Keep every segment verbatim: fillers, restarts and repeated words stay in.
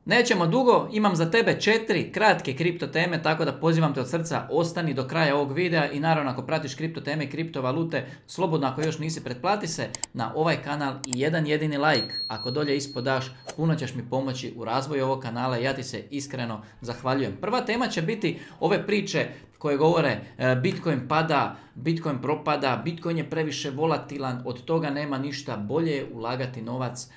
Nećemo dugo, imam za tebe četiri kratke kripto teme, tako da pozivam te od srca, ostani do kraja ovog videa i naravno ako pratiš kripto teme i kriptovalute, slobodno ako još nisi, pretplati se na ovaj kanal i jedan jedini like. Ako dolje ispod daš, puno ćeš mi pomoći u razvoju ovog kanala i ja ti se iskreno zahvaljujem. Prva tema će biti ove priče koje govore Bitcoin pada, Bitcoin propada, Bitcoin je previše volatilan, od toga nema ništa, bolje je ulagati novac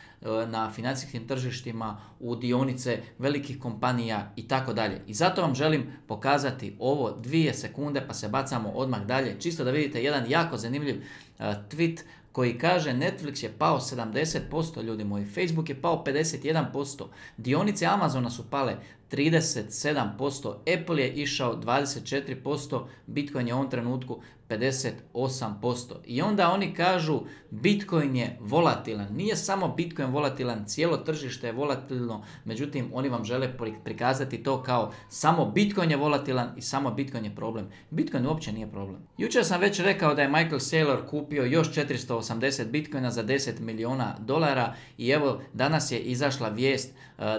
na financijskim tržištima, u dionice velikih kompanija i tako dalje. I zato vam želim pokazati ovo dvije sekunde pa se bacamo odmah dalje, čisto da vidite jedan jako zanimljiv uh, tweet koji kaže Netflix je pao sedamdeset posto, ljudi moji, Facebook je pao pedeset jedan posto, dionice Amazona su pale trideset sedam posto, Apple je išao dvadeset četiri posto, Bitcoin je u ovom trenutku pedeset osam posto. I onda oni kažu Bitcoin je volatilan. Nije samo Bitcoin volatilan, cijelo tržište je volatilno, međutim oni vam žele prikazati to kao samo Bitcoin je volatilan i samo Bitcoin je problem. Bitcoin uopće nije problem. Jučer sam već rekao da je Michael Saylor kupio još četiristo osamdeset Bitcoina za deset milijuna dolara i evo danas je izašla vijest,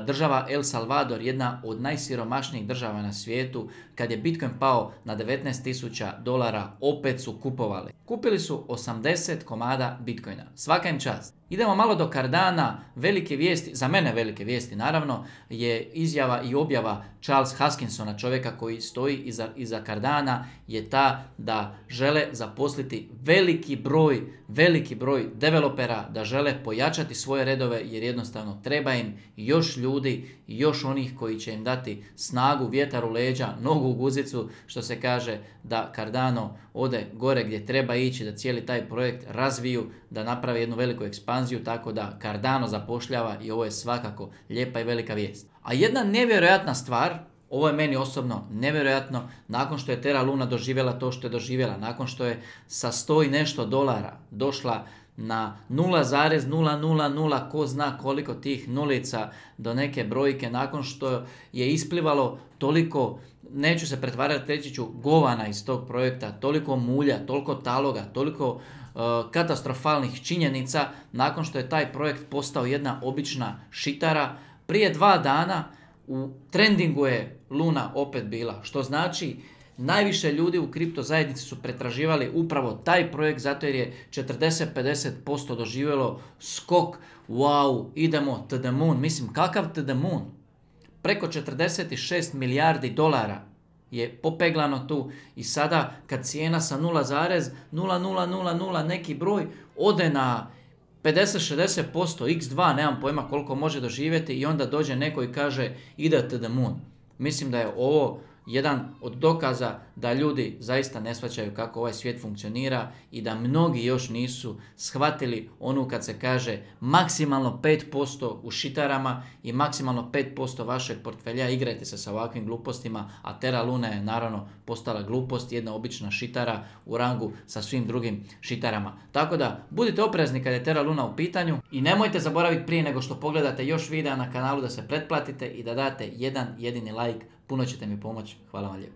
država El Salvador, jedna od najsiromašnijih država na svijetu, kad je Bitcoin pao na devetnaest tisuća dolara, opet su kupovali. Kupili su osamdeset komada Bitcoina. Svaka im čast. Idemo malo do Cardana. Velike vijesti, za mene velike vijesti naravno, je izjava i objava Charles Hoskinsona, čovjeka koji stoji iza, iza Cardana, je ta da žele zaposliti veliki broj, veliki broj developera, da žele pojačati svoje redove jer jednostavno treba im još ljudi, još onih koji će im dati snagu, vjetar u leđa, nogu u guzicu, što se kaže, da Cardano ode gore gdje treba ići, da cijeli taj projekt razviju, da napravi jednu veliku ekspanziju, tako da Cardano zapošljava i ovo je svakako lijepa i velika vijest. A jedna nevjerojatna stvar, ovo je meni osobno nevjerojatno, nakon što je Terra Luna doživjela to što je doživjela, nakon što je sa sto i nešto dolara došla na nula zarez nula nula nula, ko zna koliko tih nulica do neke brojke, nakon što je isplivalo toliko, neću se pretvarati, reći ću, govana iz tog projekta, toliko mulja, toliko taloga, toliko uh, katastrofalnih činjenica, nakon što je taj projekt postao jedna obična šitara, prije dva dana u trendingu je Luna opet bila, što znači najviše ljudi u kripto zajednici su pretraživali upravo taj projekt zato jer je četrdeset do pedeset posto doživjelo skok. Wow, idemo to the moon. Mislim, kakav to the moon? Preko četrdeset šest milijardi dolara je popeglano tu i sada kad cijena sa nula zarez nula nula nula nula neki broj ode na pedeset do šezdeset posto, iks dva, nemam pojma koliko može doživjeti i onda dođe neko i kaže ide to the moon. Mislim da je ovo jedan od dokaza da ljudi zaista ne shvaćaju kako ovaj svijet funkcionira i da mnogi još nisu shvatili onu kad se kaže maksimalno pet posto u šitarama i maksimalno pet posto vašeg portfelja, igrajte se sa ovakvim glupostima, a Terra Luna je naravno postala glupost, jedna obična šitara u rangu sa svim drugim šitarama. Tako da budite oprezni kad je Terra Luna u pitanju i nemojte zaboraviti prije nego što pogledate još videa na kanalu da se pretplatite i da date jedan jedini like. Puno ćete mi pomoći. Hvala vam lijepo.